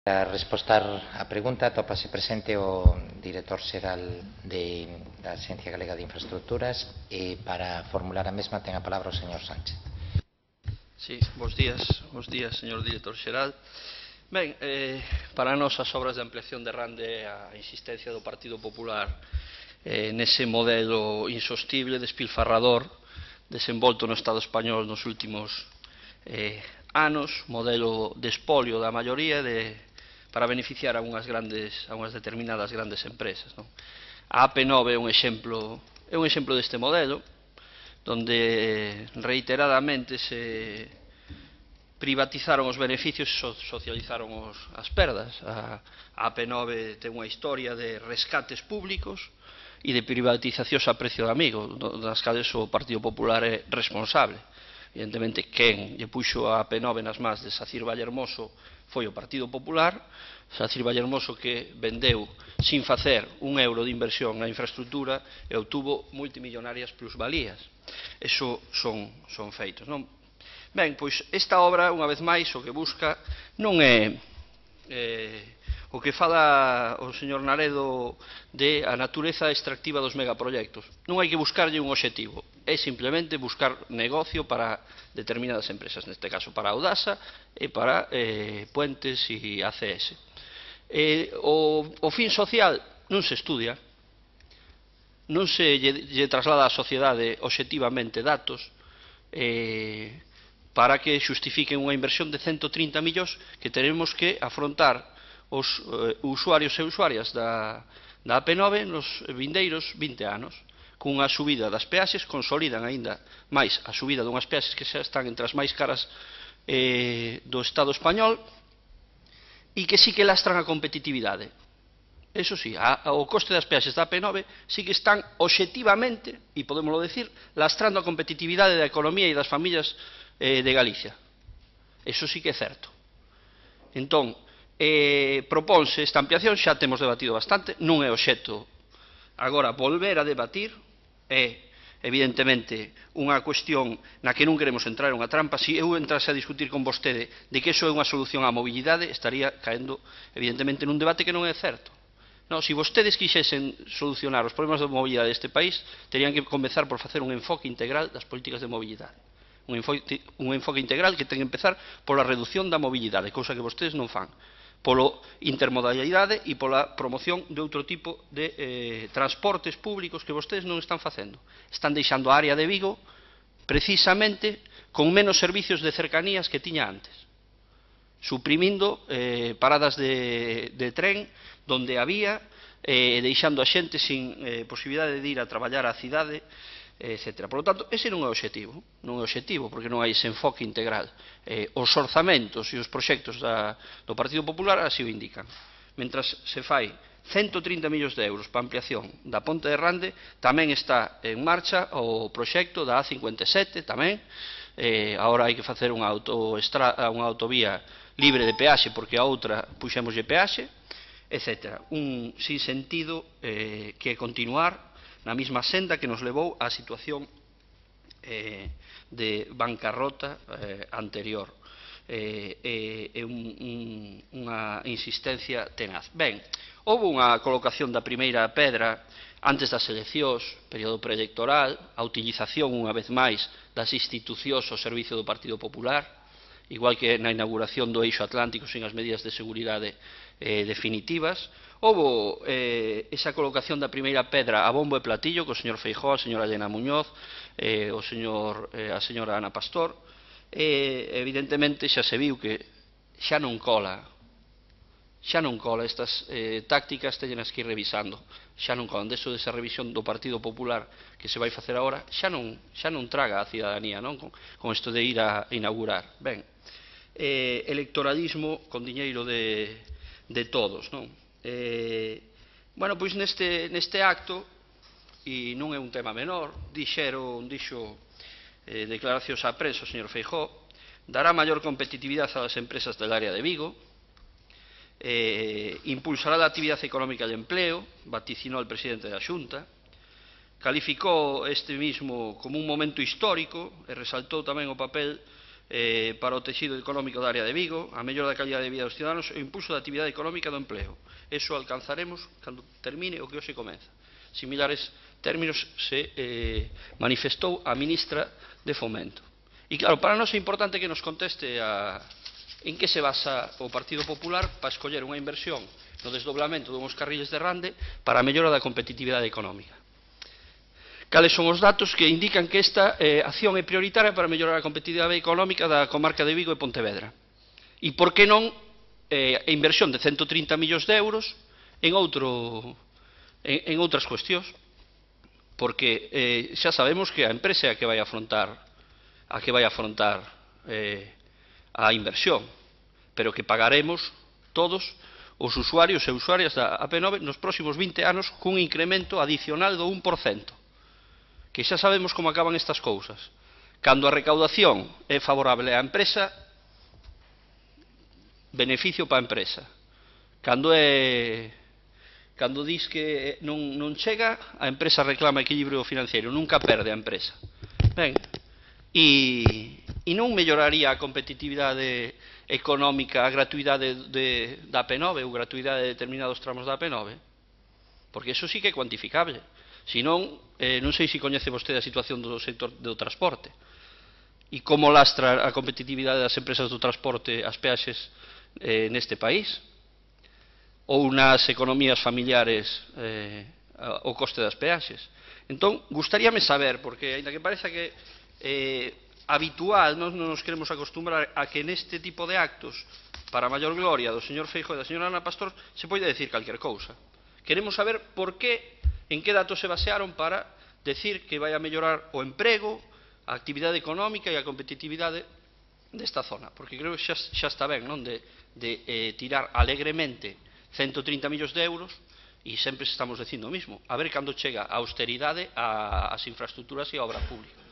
Para responder á pregunta, atópase presente o director xeral da Axencia Galega de Infraestructuras e para formular a mesma ten a palabra o señor Sánchez. Sí, bos días, señor director xeral. Ben, para nós as obras de ampliación de Rande a insistencia do Partido Popular nese modelo insostible, despilfarrador, desenvolto no Estado español nos últimos anos, modelo de espolio da maioría para beneficiar a unhas determinadas grandes empresas. A AP9 é un exemplo deste modelo, donde reiteradamente se privatizaron os beneficios e socializaron as perdas. A AP9 ten unha historia de rescates públicos e de privatizacións a precio de amigo, das cales o Partido Popular é responsable. Evidentemente, quen lle puxo a AP9 nas mans de Sacir Vallehermoso foi o Partido Popular, Sacir Vallehermoso que vendeu sin facer un euro de inversión na infraestructura e obtuvo multimillonarias plusvalías. Eso son feitos, non? Ben, pois esta obra, unha vez máis, o que busca non é o que fala o señor Naredo de a natureza extractiva dos megaproxectos. Non hai que buscarlle un obxectivo, é simplemente buscar negocio para determinadas empresas, neste caso para Audasa e para Puentes e ACS. O fin social non se estudia, non se lle traslada á sociedade obxectivamente datos para que xustifiquen unha inversión de 130 millóns que teremos que afrontar os usuarios e usuarias da AP9 nos vindeiros 20 anos. Cunha subida das peaxes, consolidan aínda máis a subida dunhas peaxes que xa están entre as máis caras do Estado español e que sí que lastran a competitividade. Eso sí, o coste das peaxes da AP9 sí que están obxectivamente, e podémoslo decir, lastrando a competitividade da economía e das familias de Galicia. Eso sí que é certo. Entón, propónse esta ampliación, xa temos debatido bastante, non é obxecto agora volver a debatir, é evidentemente unha cuestión na que non queremos entrar en unha trampa. Se eu entrase a discutir con vostede de que iso é unha solución á mobilidade, estaría caendo evidentemente nun debate que non é certo. Se vostedes quixesen solucionar os problemas de mobilidade deste país, terían que comezar por facer un enfoque integral das políticas de mobilidade. Un enfoque integral que ten que empezar pola reducción da mobilidade, cousa que vostedes non fan, pola intermodalidade e pola promoción de outro tipo de transportes públicos que vostedes non están facendo. Están deixando a área de Vigo precisamente con menos servicios de cercanías que tiña antes, suprimindo paradas de tren donde había, deixando a xente sin posibilidade de ir a traballar á cidade, etc. Por lo tanto, ese non é o obxectivo, porque non hai ese enfoque integral. Os orzamentos e os proxectos do Partido Popular así o indican. Mentras se fai 130 millóns de euros para ampliación da Ponte de Rande, tamén está en marcha o proxecto da A57, tamén. Agora hai que facer unha autovía libre de peaxe, porque a outra puxémoslle peaxe, etc. Un sinsentido que é continuar na mesma senda que nos levou á situación de bancarrota anterior. É unha insistencia tenaz. Ben, houve unha colocación da primeira pedra antes das eleccións, período preelectoral, a utilización unha vez máis das institucións ao servicio do Partido Popular, igual que na inauguración do Eixo Atlántico sin as medidas de seguridade definitivas. Houve esa colocación da primeira pedra a bombo e platillo co señor Feijóo, a señora Elena Muñoz, a señora Ana Pastor. Evidentemente xa se viu que xa non cola estas tácticas, teñenas que ir revisando, xa non colan. Deso desa revisión do Partido Popular que se vai facer agora xa non traga a cidadanía con isto de ir a inaugurar. Ben, electoralismo con diñeiro de todos, non? Bueno, pois neste acto, e non é un tema menor, dixo declaracións á prensa o señor Feijóo, dará maior competitividade ás empresas del área de Vigo, impulsará a actividade económica e empleo, vaticinou el presidente da Xunta, calificou este mismo como un momento histórico e resaltou tamén o papel para o texido económico da área de Vigo, a mellora da calidad de vida dos ciudadanos e o impulso da actividade económica do empleo. Eso alcanzaremos cando termine o que hoxe comeza. Similares términos se manifestou a ministra de Fomento. E claro, para nós é importante que nos conteste en que se basa o Partido Popular para escoller unha inversión no desdoblamento dunhos carriles de Rande para a mellora da competitividade económica. Cales son os datos que indican que esta acción é prioritaria para mellorar a competitividade económica da comarca de Vigo e Pontevedra? E por que non a inversión de 130 millóns de euros en outras cuestións? Porque xa sabemos que a empresa é a que vai afrontar a inversión, pero que pagaremos todos os usuarios e usuarias da AP9 nos próximos 20 anos cun incremento adicional do 1%. Que xa sabemos como acaban estas cousas. Cando a recaudación é favorable á empresa, beneficio para a empresa. Cando dis que non chega, a empresa reclama equilibrio financiero, nunca perde a empresa. Ben, e non melloraría a competitividade económica, a gratuidade da AP9 ou gratuidade de determinados tramos da AP9? Porque iso sí que é cuantificable. Se non, non sei se coñece vostede a situación do sector do transporte e como lastra a competitividade das empresas do transporte as peaxes neste país ou nas economías familiares o coste das peaxes. Entón, gustaríame saber, porque ainda que pareza que habitual, non nos queremos acostumbrar a que neste tipo de actos, para a maior gloria do señor Feijóo e da señora Ana Pastor, se pode decir calquer cousa. Queremos saber por que, en que datos se basearon para decir que vai a mellorar o emprego, a actividade económica e a competitividade desta zona. Porque creo que xa está ben, non, de tirar alegremente 130 millóns de euros e sempre estamos dicindo o mismo. A ver cando chega a austeridade ás infraestructuras e a obra pública.